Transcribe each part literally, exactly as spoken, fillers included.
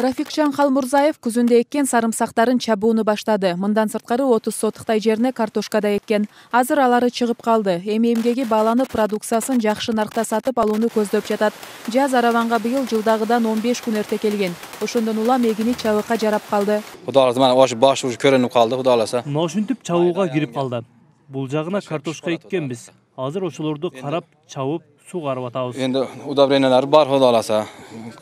Рафикжан Халмурзаев күзүндө эккен сарымсактарын чабууну баштады. Мындан сырткары отуз сотуктай жерине картошка да эккен. Азыр алары чыгып калды. Эми эмгеги бааланып, продукциясын жакшы наркта сатып алууну көздөп жатат. Жаз араванга быйыл жылдагыдан он беш күн эрте келген. Ошондон улам эгини чабыкка жарап калды. Кудай кааласа, мана ош баш уже көрүнүп калды, кудай кааласа. Мына ушинтип чабууга кирип калды. Бул жагына картошка эккенбиз. Азыр ошолорду карап, чабып, сугарып атабыз. Энди удобрениялар бар, кудай кааласа.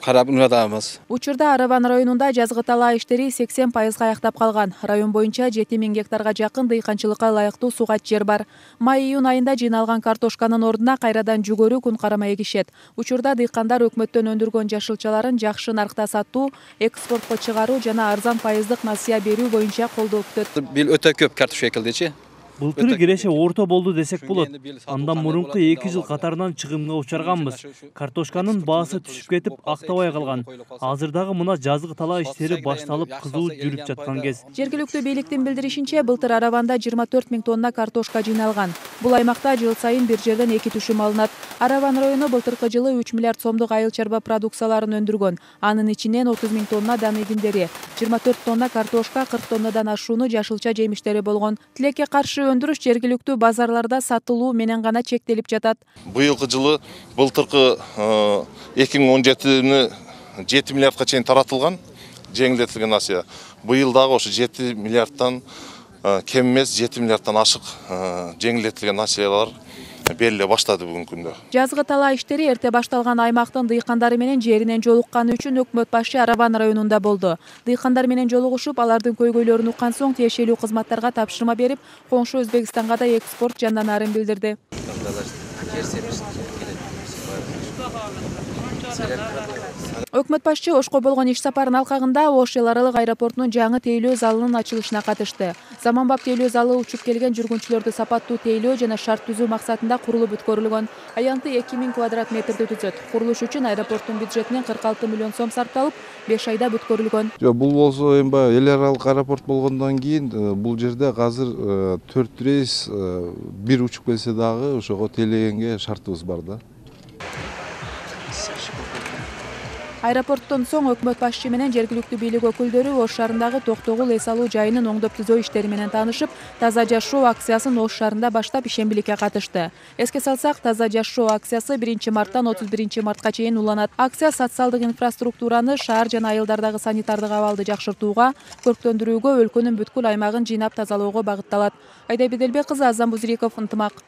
Карап унатабыз. Учурда Араван районунда жазгы талаа иштери сексен пайызга аяктап калган. Район боюнча жети миң гектарга жакын дыйканчылыкка ылайыктуу сугат жер бар. Май-июнь айында жыйналган картошканын ордуна кайрадан жүгөрү күн карама эгишет. Учурда дыйкандар өкмөттөн өндүргөн жашылчаларын жакшы наркта сатуу, экспортко чыгаруу жана арзан пайыздык насыя берүү боюнча колдоо күтөт. Бил өтө көп картошка экилдичи. Былтыры киреше орто болду десек болот. Андан мурунку эки жыл катарынан чыгымга учарганбыз. Картошканын баасы түшүп кетип, актабай калган. Азыр дагы мына жазгы талаа иштери башталып, кызуу жүрүп жаткан кез. Жергиликтүү бийликтин билдиришинче, былтыр Араванда жыйырма төрт миң тонна картошка жыйналган. Бул аймакта жыл сайын бир жерден эки түшүм алынат. Араван району былтыркы жылы үч миллиард сомдук айыл чарба продукцияларын өндүргөн. Анын ичинен отуз миң тонна дан эгиндери, жыйырма төрт тонна картошка, кырк тоннадан ашууну жашылча жемиштери болгон. Тилекке каршы өндүрүш жергиликтүү базарларда сатылуу менен гана чектелип жатат. Быйылкы жылы былтыркы эки миң он жетини жети миллиардка чейин таратылган жеңилдетилген насыя. Быйыл дагы ошо жети миллиардтан кем эмес, жети миллиардтан ашык жеңилдетилген насыялар бериле баштады бүгүнкү күндө. Жазгы талаа иштери эрте башталган аймактын дыйкандары менен жеринен жолукканы үчүн өкмөт башы Араван районунда болду. Дыйкандар менен жолугушуп, алардын көйгөйлөрүн уккан соң тиешелүү кызматтарга тапшырма берип, коңшу Өзбекстанга да экспорт жанданарын билдирди. Өкмөт башчы Ошко болгон иш сапарынын алкагында Ош эл аралык аэропортунун жаңы тейлөө залынын ачылышына катышты. Заманбап тейлөө залы учуп келген жүргүнчүлөрдү сапаттуу тейлөө жана шарт түзүү максатында курулуп бүткөрүлгөн. Аянты эки миң квадрат метрди түзөт. Курулуш үчүн аэропорттун бюджетинен кырк алты миллион сом сарпталып, беш айда бүткөрүлгөн. Бул болсо эми баягы эл аралык аэропорт болгондон кийин бул жерде азыр төрт рейс бир учуп келсе дагы ошого тейлегенге шартыбыз бар да. Аэропорттон соң өкмөт башчы менен жергиликтүү бийлик өкүлдөрү Ош шаарындагы Токтогул эс алуу жайынын оңдоп түзөө иштери менен таанышып, Таза жашоо акциясын Ош шаарында баштап ишембиликке катышты. Эске салсак, Таза жашоо акциясы биринчи марттан отуз биринчи мартка чейин уланат. Акция социалдык инфраструктураны, шаар жана айылдардагы санитардык абалды жакшыртууга, көрктөндүрүүгө, өлкөнүн бүткүл аймагын жыйнап тазалоого багытталат. Айда Беделбек кызы, Азам Бузриков, Ынтымак.